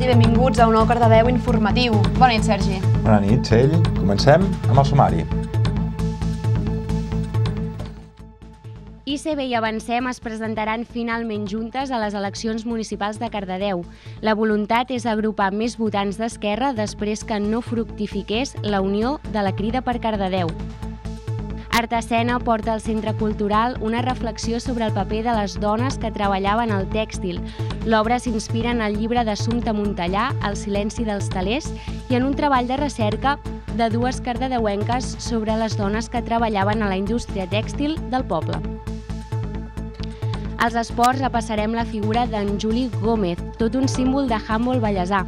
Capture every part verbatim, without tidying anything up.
i benvinguts a un nou Cardedeu informatiu. Bona nit, Sergi. Bona nit, Txell. Comencem amb el sumari. I C B i Avancem es presentaran finalment juntes a les eleccions municipals de Cardedeu. La voluntat és agrupar més votants d'Esquerra després que no fructifiqués la unió de la Crida per Cardedeu. Artesena porta al Centre Cultural una reflexió sobre el paper de les dones que treballaven al tèxtil. L'obra s'inspira en el llibre d'Assumpta Montellà, El silenci dels telers, i en un treball de recerca de dues cardedeuenques sobre les dones que treballaven a la indústria tèxtil del poble. Als esports repassarem la figura d'en Juli Gómez, tot un símbol de handbol vallesà.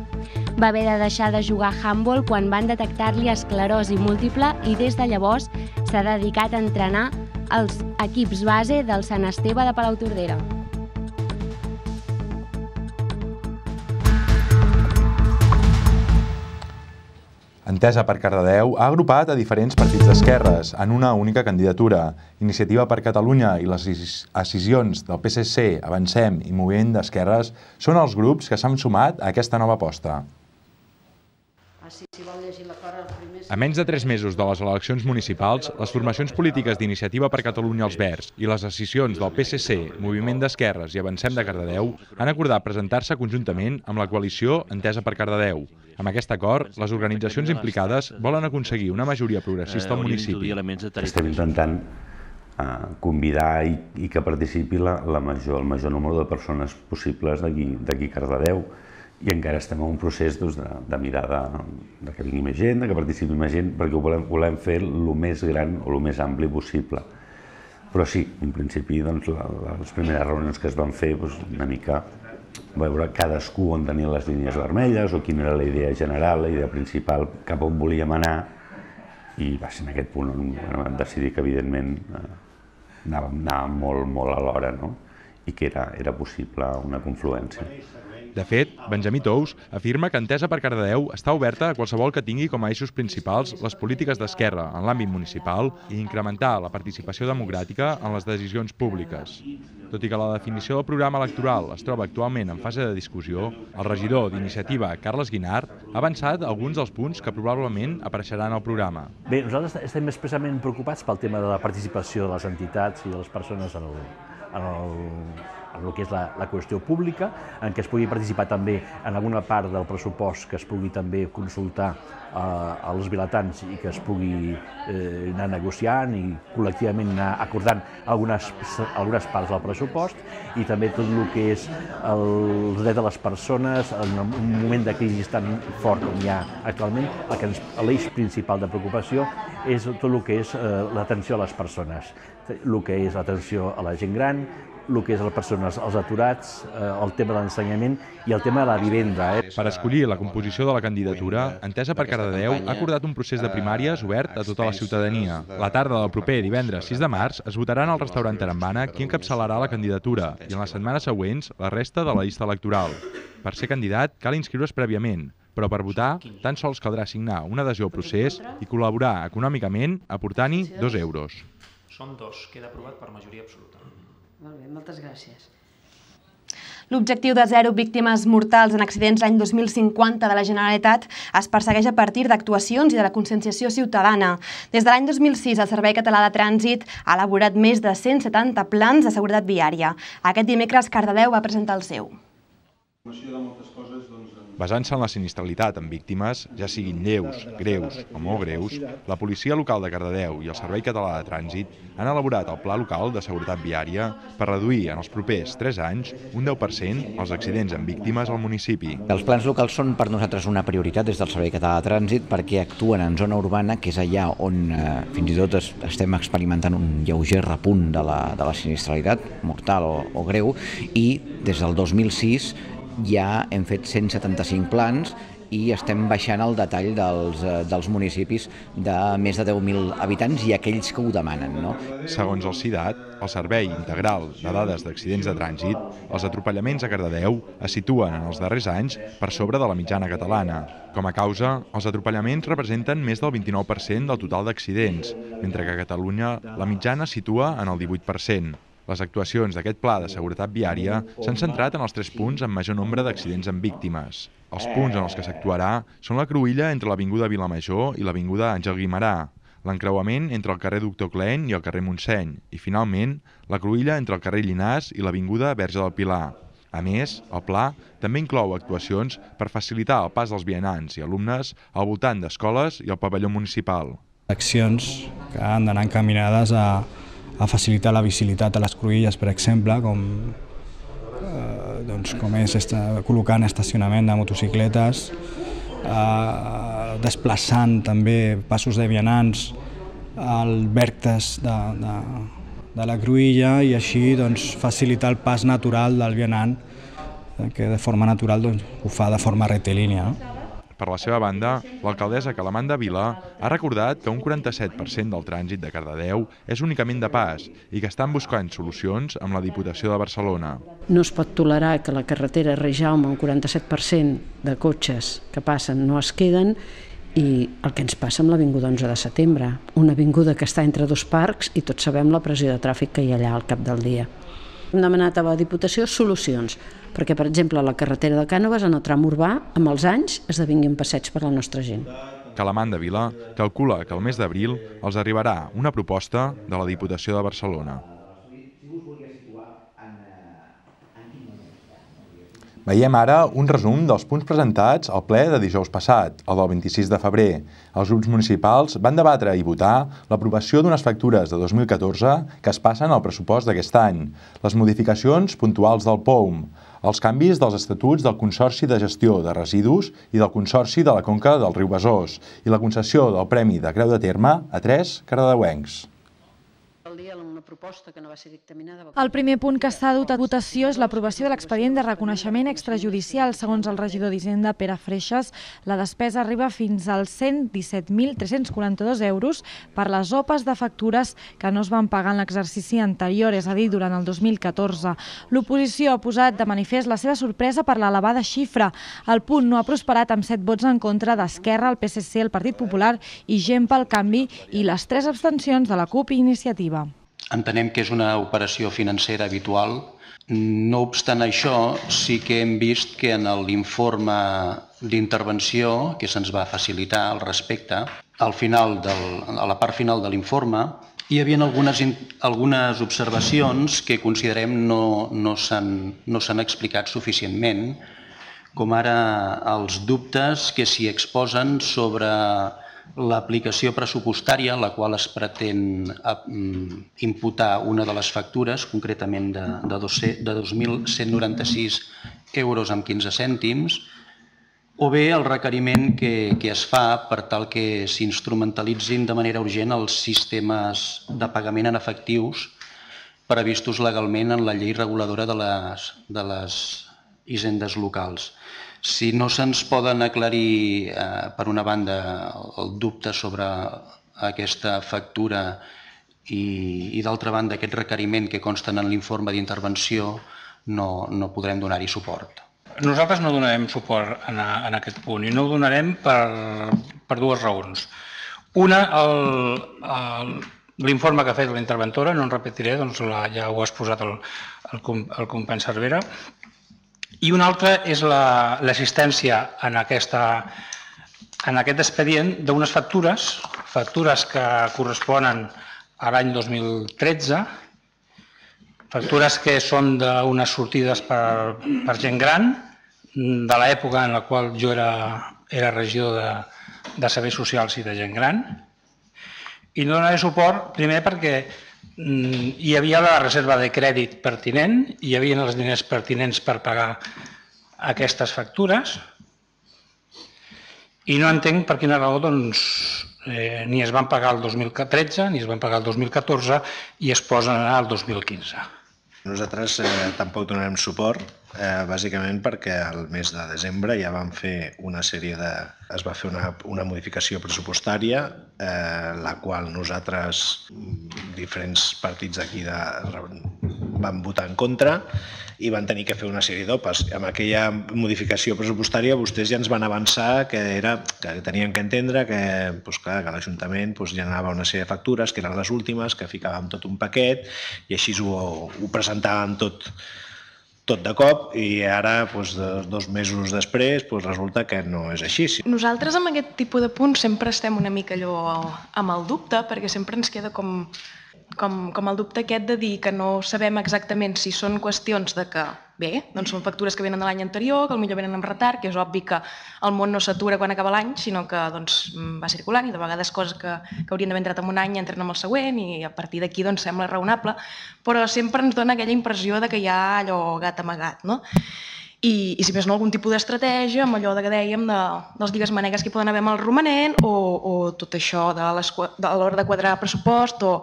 Va haver de deixar de jugar a handbol quan van detectar-li esclerosi múltiple i des de llavors s'ha dedicat a entrenar els equips base del Sant Esteve de Palautordera. Entesa per Cardedeu ha agrupat a diferents partits d'esquerres en una única candidatura. Iniciativa per Catalunya i les escissions del P S C, Avancem i Moviment d'Esquerres són els grups que s'han sumat a aquesta nova aposta. A menys de tres mesos de les eleccions municipals, les formacions polítiques d'Iniciativa per Catalunya als Verds i les escissions del P S C, Moviment d'Esquerres i Avancem de Cardedeu han acordat presentar-se conjuntament amb la coalició Entesa per Cardedeu. Amb aquest acord, les organitzacions implicades volen aconseguir una majoria progressista al municipi. Estem intentant convidar i que participi el major número de persones possibles d'aquí a Cardedeu. I encara estem en un procés de mirar que vingui més gent, que participi més gent, perquè ho volem fer el més gran o el més ampli possible. Però sí, en principi, les primeres reunions que es van fer, una mica veure cadascú on tenia les línies vermelles o quina era la idea general, la idea principal, cap on volíem anar, i va ser en aquest punt on vam decidir que, evidentment, anàvem molt alhora i que era possible una confluència. De fet, Benjamí Tous afirma que Entesa per Cardedeu està oberta a qualsevol que tingui com a eixos principals les polítiques d'esquerra en l'àmbit municipal i incrementar la participació democràtica en les decisions públiques. Tot i que la definició del programa electoral es troba actualment en fase de discussió, el regidor d'Iniciativa, Carles Guinart, ha avançat alguns dels punts que probablement apareixeran al programa. Bé, nosaltres estem especialment preocupats pel tema de la participació de les entitats i de les persones en el en el que és la qüestió pública, en què es pugui participar també en alguna part del pressupost, que es pugui també consultar als vilatans i que es pugui anar negociant i col·lectivament anar acordant algunes parts del pressupost, i també tot el que és el dret de les persones en un moment de crisi tan fort com hi ha actualment. L'eix principal de preocupació és tot el que és l'atenció a les persones, el que és l'atenció a la gent gran, el que és les persones, els aturats, el tema de l'ensenyament i el tema de la vivenda. Per escollir la composició de la candidatura, Entesa per Cardedeu ha acordat un procés de primàries obert a tota la ciutadania. La tarda del proper divendres sis de març es votaran al restaurant Tarambana qui encapçalarà la candidatura i en les setmanes següents la resta de la llista electoral. Per ser candidat cal inscriure's prèviament, però per votar tan sols caldrà signar una adhesió al procés i col·laborar econòmicament aportant-hi dos euros. Són dos, queda aprovat per majoria absoluta. Molt bé, moltes gràcies. L'objectiu de zero víctimes mortals en accidents l'any dos mil cinquanta de la Generalitat es persegueix a partir d'actuacions i de la conscienciació ciutadana. Des de l'any dos mil sis, el Servei Català de Trànsit ha elaborat més de cent setanta plans de seguretat viària. Aquest dimecres, Cardedeu va presentar el seu. Basant-se en la sinistralitat en víctimes, ja siguin lleus, greus o molt greus, la Policia Local de Cardedeu i el Servei Català de Trànsit han elaborat el Pla Local de Seguretat Viària per reduir en els propers tres anys un deu per cent els accidents amb víctimes al municipi. Els plans locals són per nosaltres una prioritat des del Servei Català de Trànsit perquè actuen en zona urbana, que és allà on fins i tot estem experimentant un lleuger repunt de la sinistralitat mortal o greu, i des del dos mil sis ja hem fet cent setanta-cinc plans i estem baixant el detall dels municipis de més de deu mil habitants i aquells que ho demanen. Segons el SIDAT, el Servei Integral de Dades d'Accidents de Trànsit, els atropellaments a Cardedeu es situen en els darrers anys per sobre de la mitjana catalana. Com a causa, els atropellaments representen més del vint-i-nou per cent del total d'accidents, mentre que a Catalunya la mitjana es situa en el divuit per cent. Les actuacions d'aquest pla de seguretat viària s'han centrat en els tres punts amb major nombre d'accidents amb víctimes. Els punts en els que s'actuarà són la cruïlla entre l'Avinguda Vilamajor i l'Avinguda Àngel Guimerà, l'encreuament entre el carrer Doctor Klein i el carrer Montseny i, finalment, la cruïlla entre el carrer Llinàs i l'Avinguda Verge del Pilar. A més, el pla també inclou actuacions per facilitar el pas dels vianants i alumnes al voltant d'escoles i al pavelló municipal. Accions que han d'anar encaminades a, a facilitar la visibilitat a les cruïlles, per exemple, com, eh, doncs, com és esta, col·locant estacionament de motocicletes, eh, desplaçant també passos de vianants al vèrtex de, de, de la cruïlla i així doncs, facilitar el pas natural del vianant, que de forma natural doncs, ho fa de forma rectilínia. No? Per la seva banda, l'alcaldessa Calamanda Vila ha recordat que un quaranta-set per cent del trànsit de Cardedeu és únicament de pas i que estan buscant solucions amb la Diputació de Barcelona. No es pot tolerar que la carretera Rei-Jaume, un quaranta-set per cent de cotxes que passen no es queden, i el que ens passa amb l'Avinguda onze de setembre, una avinguda que està entre dos parcs i tots sabem la pressió de tràfic que hi ha allà al cap del dia. Hem demanat a la Diputació solucions, perquè, per exemple, la carretera de Cànoves, en el tram urbà, amb els anys, esdevingui un passeig per la nostra gent. Calamanda Vila calcula que el mes d'abril els arribarà una proposta de la Diputació de Barcelona. Veiem ara un resum dels punts presentats al ple de dijous passat, el del vint-i-sis de febrer. Els grups municipals van debatre i votar l'aprovació d'unes factures de dos mil catorze que es passen al pressupost d'aquest any, les modificacions puntuals del P O U M, els canvis dels estatuts del Consorci de Gestió de Residus i del Consorci de la Conca del Riu Besòs i la concessió del Premi de Creu de Terme a tres cardedeuencs. El primer punt que està dut a votació és l'aprovació de l'expedient de reconeixement extrajudicial. Segons el regidor d'Hisenda, Pere Freixas, la despesa arriba fins als cent disset mil tres-cents quaranta-dos euros per les opes de factures que no es van pagar en l'exercici anterior, és a dir, durant el dos mil catorze. L'oposició ha posat de manifest la seva sorpresa per l'elevada xifra. El punt no ha prosperat amb set vots en contra d'Esquerra, el P S C, el Partit Popular i Gent pel Canvi i les tres abstencions de la CUP i Iniciativa. Entenem que és una operació financera habitual. No obstant això, sí que hem vist que en l'informe d'intervenció que se'ns va facilitar al respecte, al final del, a la part final de l'informe, hi havia algunes, algunes observacions que considerem no, no s'han no s'han explicat suficientment, com ara els dubtes que s'hi exposen sobre l'aplicació pressupostària, la qual es pretén imputar una de les factures, concretament de, de, de dos mil cent noranta-sis euros amb quinze cèntims, o bé el requeriment que, que es fa per tal que s'instrumentalitzin de manera urgent els sistemes de pagament en efectius previstos legalment en la llei reguladora de les, de les hisendes locals. Si no se'ns poden aclarir, eh, per una banda, el dubte sobre aquesta factura i, i d'altra banda, aquest requeriment que consten en l'informe d'intervenció, no, no podrem donar-hi suport. Nosaltres no donarem suport en, a, en aquest punt i no ho donarem per, per dues raons. Una, l'informe que ha fet la interventora, no en repetiré, doncs la, ja ho ha exposat el, el, el company Cervera, i una altra és l'assistència en, aquesta, en aquest expedient d'unes factures, factures que corresponen a l'any dos mil tretze, factures que són d'unes sortides per, per gent gran, de l'època en la qual jo era, era regidor de, de serveis socials i de gent gran, i no donaré suport, primer perquè hi havia la reserva de crèdit pertinent, hi havia els diners pertinents per pagar aquestes factures i no entenc per quina raó doncs, eh, ni es van pagar el dos mil tretze ni es van pagar el dos mil catorze i es posen al dos mil quinze. Nosaltres eh, tampoc donarem suport, eh, bàsicament perquè al mes de desembre ja vam fer una sèrie de... es va fer una, una modificació pressupostària, eh, la qual nosaltres, diferents partits d'aquí de van votar en contra i van tenir que fer una sèrie d'opes. Amb aquella modificació pressupostària vostès ja ens van avançar que, era, que tenien que entendre que, doncs, clar, que l'Ajuntament doncs, generava una sèrie de factures, que eren les últimes, que ficàvem tot un paquet i així ho, ho presentàvem tot, tot de cop i ara, doncs, dos mesos després, doncs, resulta que no és així. Nosaltres amb aquest tipus de punts sempre estem una mica allò amb el dubte, perquè sempre ens queda com... Com, com el dubte aquest de dir que no sabem exactament si són qüestions de que, bé, doncs són factures que venen de l'any anterior, que potser venen amb retard, que és obvi que el món no s'atura quan acaba l'any, sinó que doncs, va circulant i de vegades coses que, que haurien d'haver entrat en un any entren en el següent i a partir d'aquí doncs, sembla raonable, però sempre ens dona aquella impressió de que hi ha allò gat amagat, no? I, i si més no, algun tipus d'estratègia, amb allò de que dèiem de, dels digues manegues que poden haver amb el romanent o, o tot això de l'hora de quadrar pressupost o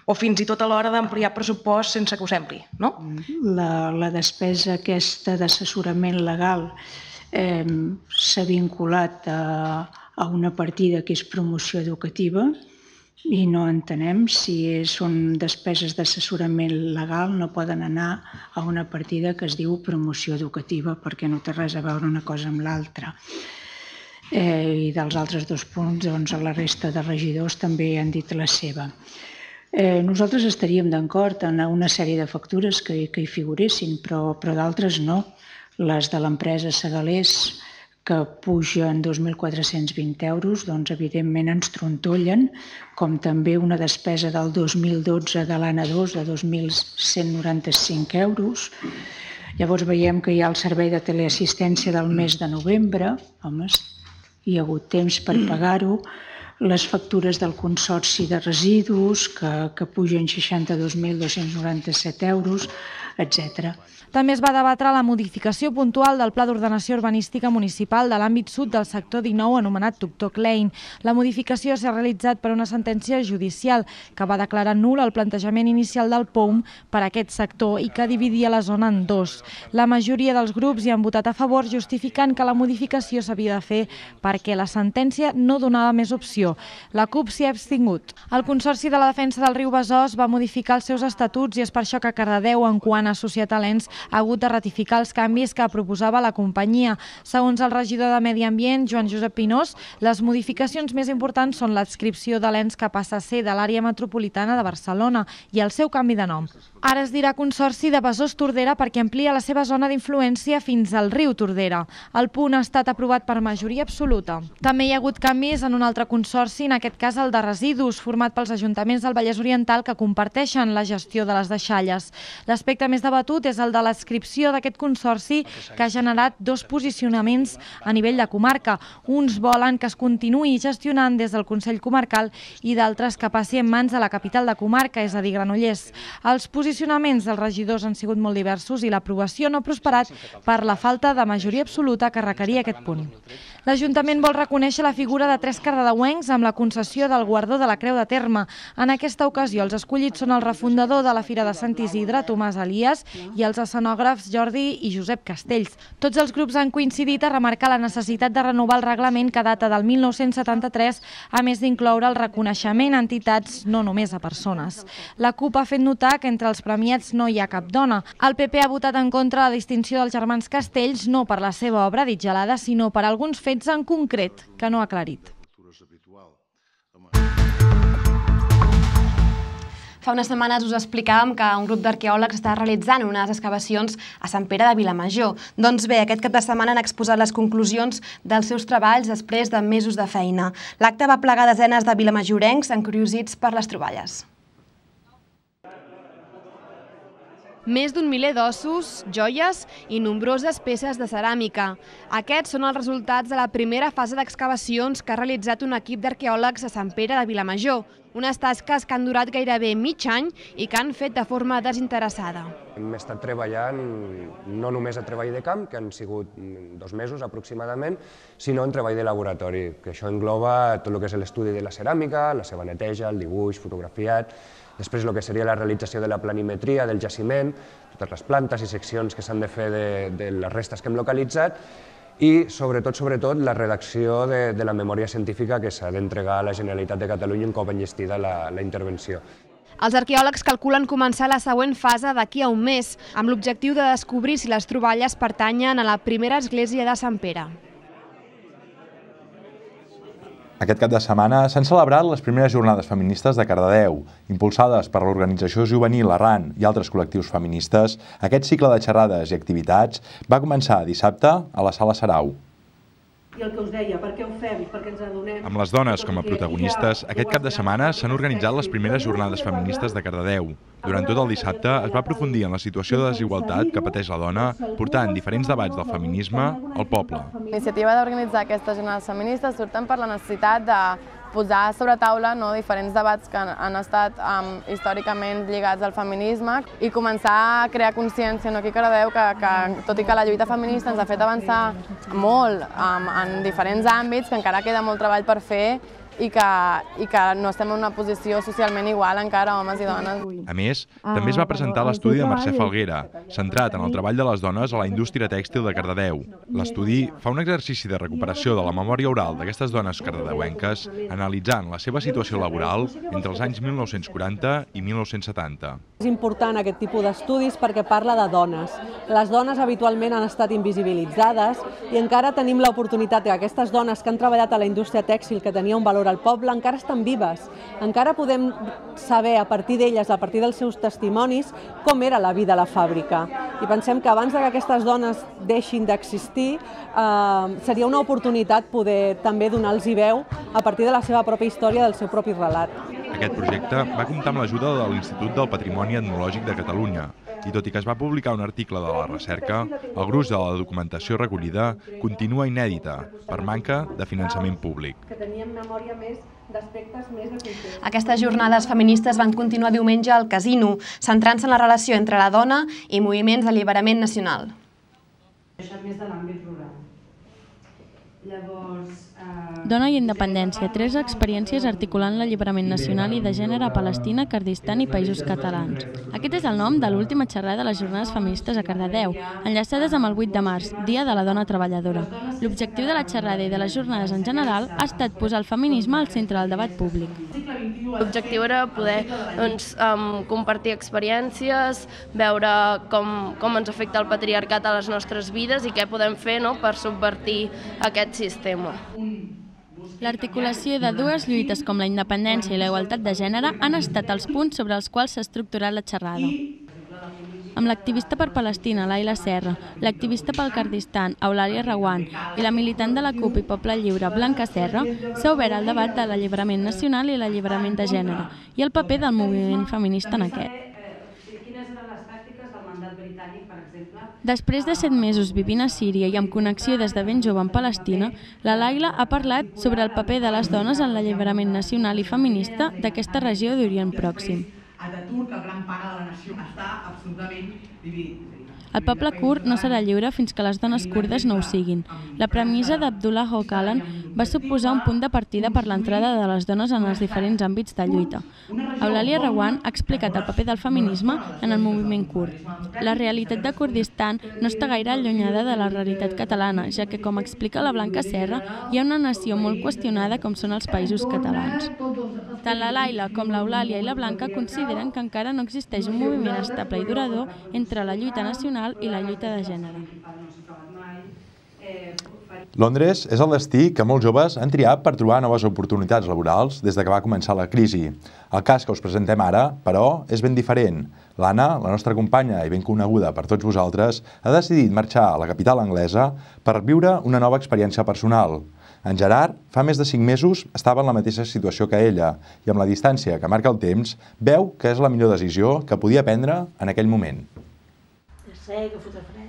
o fins i tot a l'hora d'ampliar pressupost sense que ho sembli, no? La, la despesa aquesta d'assessorament legal eh, s'ha vinculat a, a una partida que és promoció educativa i no entenem si són despeses d'assessorament legal, no poden anar a una partida que es diu promoció educativa perquè no té res a veure una cosa amb l'altra. Eh, I dels altres dos punts, doncs, la resta de regidors també han dit la seva. Eh, nosaltres estaríem d'acord en una sèrie de factures que, que hi figuressin, però, però d'altres no. Les de l'empresa Segalers, que pugen dos mil quatre-cents vint euros, doncs evidentment ens trontollen, com també una despesa del dos mil dotze de l'A N A dos de dos mil cent noranta-cinc euros. Llavors veiem que hi ha el servei de teleassistència del mes de novembre, home, hi ha hagut temps per pagar-ho, les factures del Consorci de Residus, que, que pugen seixanta-dos mil dos-cents noranta-set euros, etcètera. També es va debatre la modificació puntual del Pla d'Ordenació Urbanística Municipal de l'àmbit sud del sector dinou anomenat Tuktok Lane. La modificació s'ha realitzat per una sentència judicial que va declarar nul el plantejament inicial del P O U M per a aquest sector i que dividia la zona en dos. La majoria dels grups hi han votat a favor justificant que la modificació s'havia de fer perquè la sentència no donava més opció. La CUP s'hi ha abstingut. El Consorci de la Defensa del Riu Besòs va modificar els seus estatuts i és per això que Cardedeu, en quant a societalens, ha hagut de ratificar els canvis que proposava la companyia. Segons el regidor de Medi Ambient, Joan Josep Pinós, les modificacions més importants són l'adscripció de l'ens que passa a ser de l'àrea metropolitana de Barcelona i el seu canvi de nom. Ara es dirà Consorci de Besòs-Tordera perquè amplia la seva zona d'influència fins al riu Tordera. El punt ha estat aprovat per majoria absoluta. També hi ha hagut canvis en un altre consorci, en aquest cas el de residus, format pels ajuntaments del Vallès Oriental que comparteixen la gestió de les deixalles. L'aspecte més debatut és el de l'adscripció d'aquest consorci que ha generat dos posicionaments a nivell de comarca. Uns volen que es continuï gestionant des del Consell Comarcal i d'altres que passi en mans de la capital de comarca, és a dir, Granollers. Els posicionaments dels regidors han sigut molt diversos i l'aprovació no ha prosperat per la falta de majoria absoluta que requeria aquest punt. L'Ajuntament vol reconèixer la figura de tres cardedeuencs amb la concessió del guardó de la Creu de Terme. En aquesta ocasió, els escollits són el refundador de la Fira de Sant Isidre, Tomàs Elias, i els escenògrafs Jordi i Josep Castells. Tots els grups han coincidit a remarcar la necessitat de renovar el reglament que data del mil nou-cents setanta-tres, a més d'incloure el reconeixement a entitats, no només a persones. La CUP ha fet notar que entre els premiats no hi ha cap dona. El P P ha votat en contra la distinció dels germans Castells, no per la seva obra ditgelada, sinó per alguns fets en concret que no ha aclarit. Fa unes setmanes us explicàvem que un grup d'arqueòlegs està realitzant unes excavacions a Sant Pere de Vilamajor. Doncs bé, aquest cap de setmana han exposat les conclusions dels seus treballs després de mesos de feina. L'acte va plegar desenes de vilamajorencs encuriosits per les troballes. Més d'un miler d'ossos, joies i nombroses peces de ceràmica. Aquests són els resultats de la primera fase d'excavacions que ha realitzat un equip d'arqueòlegs a Sant Pere de Vilamajor. Unes tasques que han durat gairebé mig any i que han fet de forma desinteressada. Hem estat treballant no només a treball de camp, que han sigut dos mesos aproximadament, sinó en treball de laboratori, que això engloba tot el que és l'estudi de la ceràmica, la seva neteja, el dibuix, fotografiat, després el que seria la realització de la planimetria del jaciment, totes les plantes i seccions que s'han de fer de, de les restes que hem localitzat, i sobretot, sobretot, la redacció de, de la memòria científica que s'ha d'entregar a la Generalitat de Catalunya un cop enllestida la, la intervenció. Els arqueòlegs calculen començar la següent fase d'aquí a un mes, amb l'objectiu de descobrir si les troballes pertanyen a la primera església de Sant Pere. Aquest cap de setmana s'han celebrat les primeres jornades feministes de Cardedeu. Impulsades per l'organització juvenil Arran i altres col·lectius feministes, aquest cicle de xerrades i activitats va començar dissabte a la Sala Sarau. I el que us deia, per què ho fem, per què ens adonem... Amb les dones com a protagonistes, aquest cap de setmana s'han organitzat les primeres jornades feministes de Cardedeu. Durant tot el dissabte es va aprofundir en la situació de desigualtat que pateix la dona, portant diferents debats del feminisme al poble. La iniciativa d'organitzar aquestes jornades feministes surten per la necessitat de posar sobre taula no, diferents debats que han estat um, històricament lligats al feminisme i començar a crear consciència no, aquí a Cardedeu que, que, tot i que la lluita feminista ens ha fet avançar molt um, en diferents àmbits, que encara queda molt treball per fer i que, i que no estem en una posició socialment igual encara, homes i dones. A més, també es va presentar l'estudi de Mercè Falguera, centrat en el treball de les dones a la indústria tèxtil de Cardedeu. L'estudi fa un exercici de recuperació de la memòria oral d'aquestes dones cardedeuenques, analitzant la seva situació laboral entre els anys mil nou-cents quaranta i mil nou-cents setanta. És important aquest tipus d'estudis perquè parla de dones. Les dones habitualment han estat invisibilitzades i encara tenim l'oportunitat que aquestes dones que han treballat a la indústria tèxtil, que tenia un valor al poble, encara estan vives. Encara podem saber a partir d'elles, a partir dels seus testimonis, com era la vida a la fàbrica. I pensem que abans que aquestes dones deixin d'existir, eh, seria una oportunitat poder també donar-los veu a partir de la seva pròpia història, del seu propi relat. Aquest projecte va comptar amb l'ajuda de l'Institut del Patrimoni Etnològic de Catalunya, i tot i que es va publicar un article de la recerca, el gruix de la documentació recollida continua inèdita per manca de finançament públic. Aquestes jornades feministes van continuar diumenge al Casino, centrant-se en la relació entre la dona i moviments d'alliberament nacional. Això més de l'àmbit rural. Llavors... Dona i independència, tres experiències articulant l'alliberament nacional i de gènere a Palestina, Kurdistan i països catalans. Aquest és el nom de l'última xerrada de les jornades feministes a Cardedeu, enllaçades amb el vuit de març, Dia de la Dona Treballadora. L'objectiu de la xerrada i de les jornades en general ha estat posar el feminisme al centre del debat públic. L'objectiu era poder doncs, um, compartir experiències, veure com, com ens afecta el patriarcat a les nostres vides i què podem fer no, per subvertir aquest sistema. L'articulació de dues lluites com la independència i la igualtat de gènere han estat els punts sobre els quals s'ha estructurat la xerrada. Amb l'activista per Palestina, Laila Serra, l'activista pel Kurdistan, Eulàlia Reguant, i la militant de la CUP i Poble Lliure, Blanca Serra, s'ha obert el debat de l'alliberament nacional i l'alliberament de gènere i el paper del moviment feminista en aquest. Després de set mesos vivint a Síria i amb connexió des de ben jove amb Palestina, la Laila ha parlat sobre el paper de les dones en l'alliberament nacional i feminista d'aquesta regió d'Orient Pròxim. El poble kurd no serà lliure fins que les dones kurdes no ho siguin. La premissa d'Abdullah Öcalan va suposar un punt de partida per l'entrada de les dones en els diferents àmbits de lluita. Eulàlia Reguant ha explicat el paper del feminisme en el moviment kurd. La realitat de Kurdistan no està gaire allunyada de la realitat catalana, ja que, com explica la Blanca Serra, hi ha una nació molt qüestionada com són els països catalans. Tant la Laila com l'Eulàlia i la Blanca consideren que encara no existeix un moviment estable i durador entre la lluita nacional i la lluita de gènere. Londres és el destí que molts joves han triat per trobar noves oportunitats laborals des de que va començar la crisi. El cas que us presentem ara, però, és ben diferent. L'Anna, la nostra companya i ben coneguda per tots vosaltres, ha decidit marxar a la capital anglesa per viure una nova experiència personal. En Gerard, fa més de cinc mesos, estava en la mateixa situació que ella i amb la distància que marca el temps, veu que és la millor decisió que podia prendre en aquell moment. Sé que fot fred.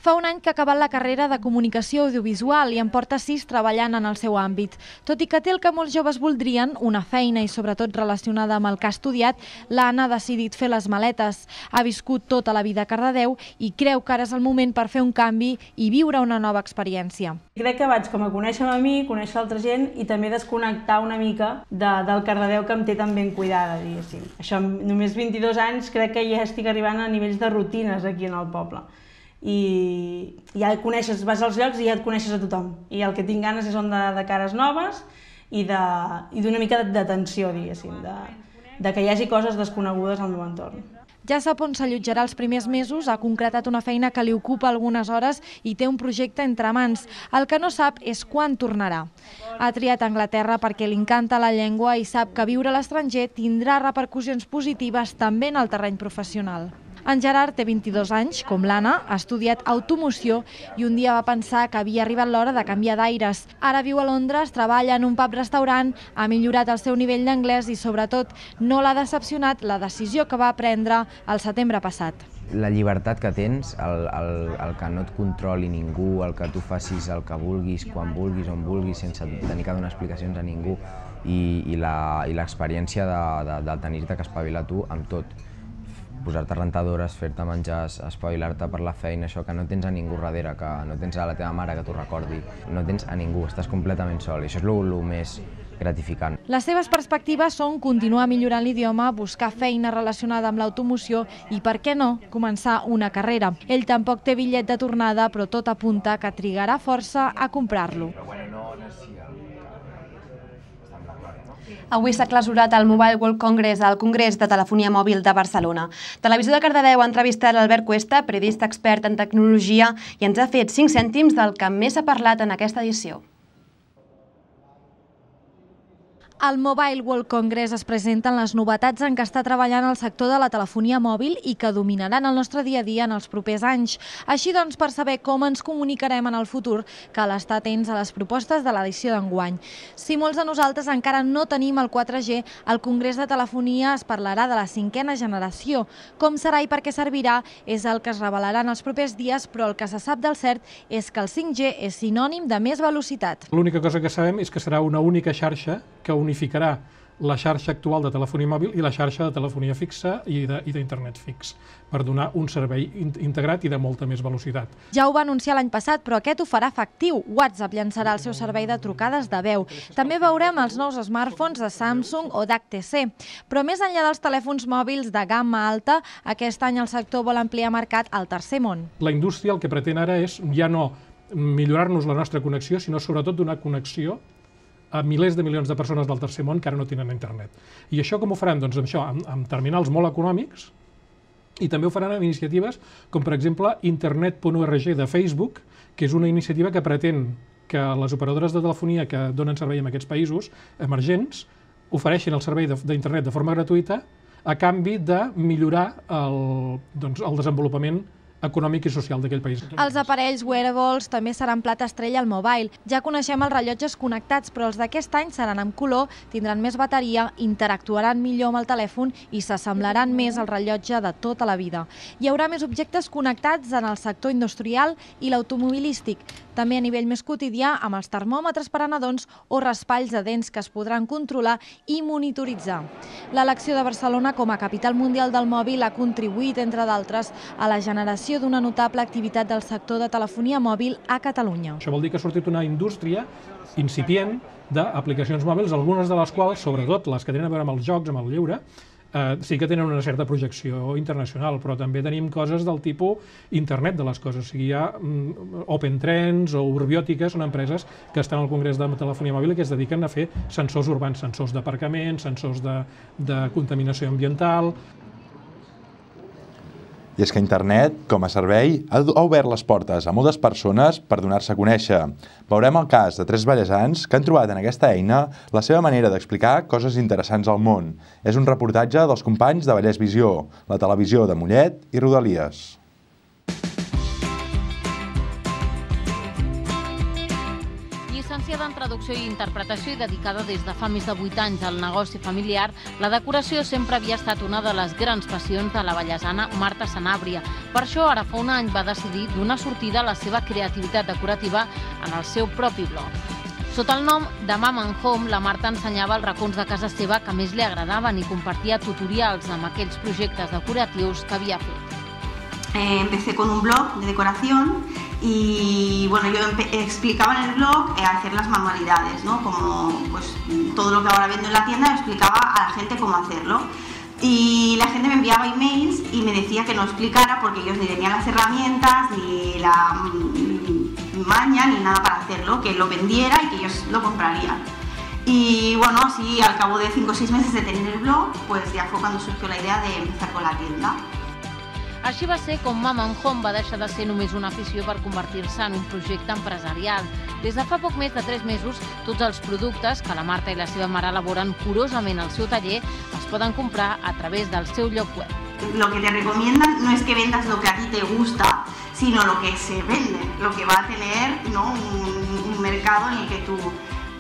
Fa un any que ha acabat la carrera de comunicació audiovisual i en porta sis treballant en el seu àmbit. Tot i que té el que molts joves voldrien, una feina i sobretot relacionada amb el que ha estudiat, l'Anna ha decidit fer les maletes. Ha viscut tota la vida a Cardedeu i creu que ara és el moment per fer un canvi i viure una nova experiència. Crec que vaig com a conèixer a mi, conèixer altra gent i també desconnectar una mica de, del Cardedeu que em té tan ben cuidada, diguéssim. Això, només vint-i-dos anys, crec que ja estic arribant a nivells de rutines aquí en el poble. I ja et coneixes, vas als llocs i ja et coneixes a tothom. I el que tinc ganes és de, de cares noves i d'una mica d'atenció, diguéssim, de, de que hi hagi coses desconegudes al meu entorn. Ja sap on s'allotjarà els primers mesos, ha concretat una feina que li ocupa algunes hores i té un projecte entre mans. El que no sap és quan tornarà. Ha triat Anglaterra perquè li encanta la llengua i sap que viure a l'estranger tindrà repercussions positives també en el terreny professional. En Gerard té vint-i-dos anys, com l'Anna, ha estudiat automoció i un dia va pensar que havia arribat l'hora de canviar d'aires. Ara viu a Londres, treballa en un pub-restaurant, ha millorat el seu nivell d'anglès i, sobretot, no l'ha decepcionat la decisió que va prendre el setembre passat. La llibertat que tens, el, el, el que no et controli ningú, el que tu facis el que vulguis, quan vulguis, on vulguis, sense tenir que donar explicacions a ningú i, i l'experiència de, de, de tenir-te que espavilar tu amb tot. Posar-te rentadores, fer-te menjar, espavilar-te per la feina, això que no tens a ningú darrere, que no tens a la teva mare que t'ho recordi, no tens a ningú, estàs completament sol i això és el més gratificant. Les seves perspectives són continuar millorant l'idioma, buscar feina relacionada amb l'automoció i, per què no, començar una carrera. Ell tampoc té bitllet de tornada, però tot apunta que trigarà força a comprar-lo. Avui s'ha clausurat el Mobile World Congress al Congrés de Telefonia Mòbil de Barcelona. Televisió de Cardedeu ha entrevistat l'Albert Cuesta, periodista expert en tecnologia, i ens ha fet cinc cèntims del que més s'ha parlat en aquesta edició. Al Mobile World Congress es presenten les novetats en què està treballant el sector de la telefonia mòbil i que dominaran el nostre dia a dia en els propers anys. Així doncs, per saber com ens comunicarem en el futur, cal estar atents a les propostes de l'edició d'enguany. Si molts de nosaltres encara no tenim el quatre G, al Congrés de Telefonia es parlarà de la cinquena generació. Com serà i per què servirà és el que es revelarà en els propers dies, però el que se sap del cert és que el cinc G és sinònim de més velocitat. L'única cosa que sabem és que serà una única xarxa que unificarà la xarxa actual de telefonia mòbil i la xarxa de telefonia fixa i d'internet fix, per donar un servei integrat i de molta més velocitat. Ja ho va anunciar l'any passat, però aquest ho farà efectiu. WhatsApp llançarà el seu servei de trucades de veu. També veurem els nous smartphones de Samsung o d'H T C. Però més enllà dels telèfons mòbils de gamma alta, aquest any el sector vol ampliar mercat al tercer món. La indústria el que pretén ara és ja no millorar-nos la nostra connexió, sinó sobretot donar connexió a milers de milions de persones del tercer món que ara no tenen internet. I això com ho faran? Doncs això, amb, amb terminals molt econòmics, i també ho faran amb iniciatives com, per exemple, internet punt org de Facebook, que és una iniciativa que pretén que les operadores de telefonia que donen servei en aquests països emergents ofereixin el servei d'internet de forma gratuïta a canvi de millorar el, doncs, el desenvolupament econòmic i social d'aquell país. Els aparells wearables també seran plat estrella al mobile. Ja coneixem els rellotges connectats, però els d'aquest any seran amb color, tindran més bateria, interactuaran millor amb el telèfon i s'assemblaran més al rellotge de tota la vida. Hi haurà més objectes connectats en el sector industrial i l'automobilístic, també a nivell més quotidià amb els termòmetres per a nadons o raspalls de dents que es podran controlar i monitoritzar. L'elecció de Barcelona com a capital mundial del mòbil ha contribuït, entre d'altres, a la generació d'una notable activitat del sector de telefonia mòbil a Catalunya. Això vol dir que ha sortit una indústria incipient d'aplicacions mòbils, algunes de les quals, sobretot les que tenen a veure amb els jocs, amb el lleure, eh, sí que tenen una certa projecció internacional, però també tenim coses del tipus internet de les coses. O sigui, hi ha mm, Open Trends o Urbiòtica, són empreses que estan al Congrés de Telefonia Mòbil i que es dediquen a fer sensors urbans, sensors d'aparcament, sensors de, de contaminació ambiental. I és que internet, com a servei, ha obert les portes a moltes persones per donar-se a conèixer. Veurem el cas de tres vallesans que han trobat en aquesta eina la seva manera d'explicar coses interessants al món. És un reportatge dels companys de Vallès Visió, la televisió de Mollet i Rodalies. Llicenciada en Traducció i Interpretació i dedicada des de fa més de vuit anys al negoci familiar, la decoració sempre havia estat una de les grans passions de la vallesana Marta Sanàbria. Per això, ara fa un any va decidir donar sortida a la seva creativitat decorativa en el seu propi blog. Sota el nom de Mom and Home, la Marta ensenyava els racons de casa seva que més li agradaven i compartia tutorials amb aquells projectes decoratius que havia fet. Eh, empecé con un blog de decoración y bueno, yo explicaba en el blog eh, hacer las manualidades, ¿no? Como pues, todo lo que ahora vendo en la tienda, explicaba a la gente cómo hacerlo. Y la gente me enviaba emails y me decía que no explicara porque ellos ni tenían las herramientas, ni la mm, maña, ni nada para hacerlo, que lo vendiera y que ellos lo comprarían. Y bueno, así al cabo de cinco o seis meses de tener el blog, pues ya fue cuando surgió la idea de empezar con la tienda. Així va ser com Mama and Home va deixar de ser només una afició per convertir-se en un projecte empresarial. Des de fa poc més de tres mesos, tots els productes que la Marta i la seva mare elaboren curosament al seu taller es poden comprar a través del seu lloc web. Lo que te recomiendan no es que vendas lo que a ti te gusta, sino lo que se vende, lo que va a tener, ¿no?, un, un mercado en el que tú...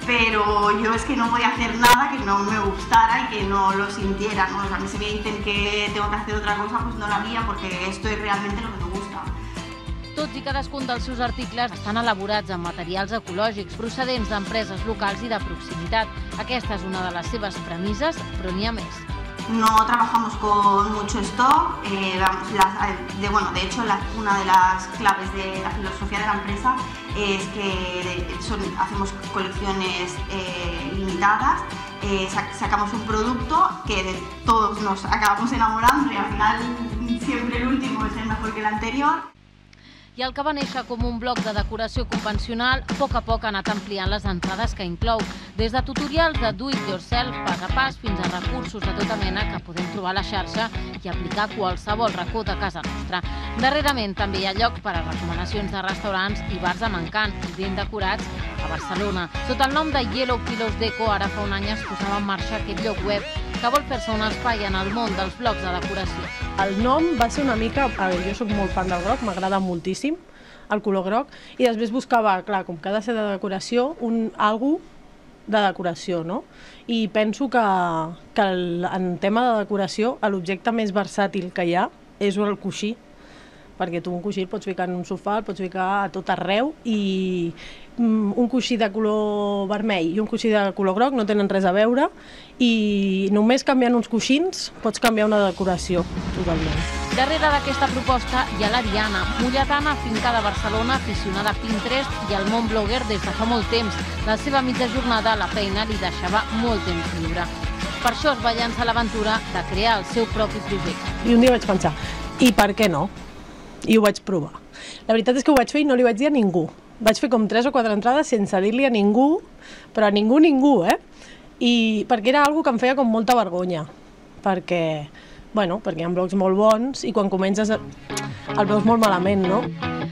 Pero yo es que no voy a hacer nada que no me gustara y que no lo sintiera, ¿no? O sea, a mí si me dicen que tengo que hacer otra cosa, pues no lo haría porque esto es realmente lo que me gusta. Tots i cadascun dels seus articles estan elaborats amb materials ecològics procedents d'empreses locals i de proximitat. Aquesta és una de les seves premisses, però n'hi ha més. No trabajamos con mucho stock, eh, las, de, bueno, de hecho la, una de las claves de la filosofía de la empresa es que son, hacemos colecciones eh, limitadas, eh, sac, sacamos un producto que de todos nos acabamos enamorando y al final siempre el último es el mejor que el anterior. I el que va néixer com un bloc de decoració convencional, a poc a poc ha anat ampliant les entrades que inclou, des de tutorials de do-it-yourself pas a pas fins a recursos de tota mena que podem trobar a la xarxa i aplicar a qualsevol racó de casa nostra. Darrerament també hi ha llocs per a recomanacions de restaurants i bars amb encant i ben decorats a Barcelona. Sota el nom de Yellow Pillows Deco, ara fa un any es posava en marxa aquest lloc web que vol fer-se un espai en el món dels blocs de decoració. El nom va ser una mica... A veure, jo soc molt fan del groc, m'agrada moltíssim el color groc, i després buscava, clar, com que ha de ser de decoració, un algú de decoració, no? I penso que, que el, en tema de decoració l'objecte més versàtil que hi ha és el coixí, perquè tu un coixí el pots ficar en un sofà, el pots ficar a tot arreu, i un coixí de color vermell i un coixí de color groc no tenen res a veure, i només canviant uns coixins pots canviar una decoració totalment. Darrere d'aquesta proposta hi ha l'Ariana, mulletana afincada a Barcelona, aficionada a Pinterest i al món blogger des de fa molt temps. La seva mitja jornada a la feina li deixava molt temps lliure. Per això es va llançar l'aventura de crear el seu propi projecte. I un dia vaig pensar, i per què no? I ho vaig provar. La veritat és que ho vaig fer i no li vaig dir a ningú. Vaig fer com tres o quatre entrades sense dir-li a ningú, però a ningú, ningú, eh? I perquè era una cosa que em feia com molta vergonya, perquè, bueno, perquè hi ha blogs molt bons i quan comences el veus molt malament, no?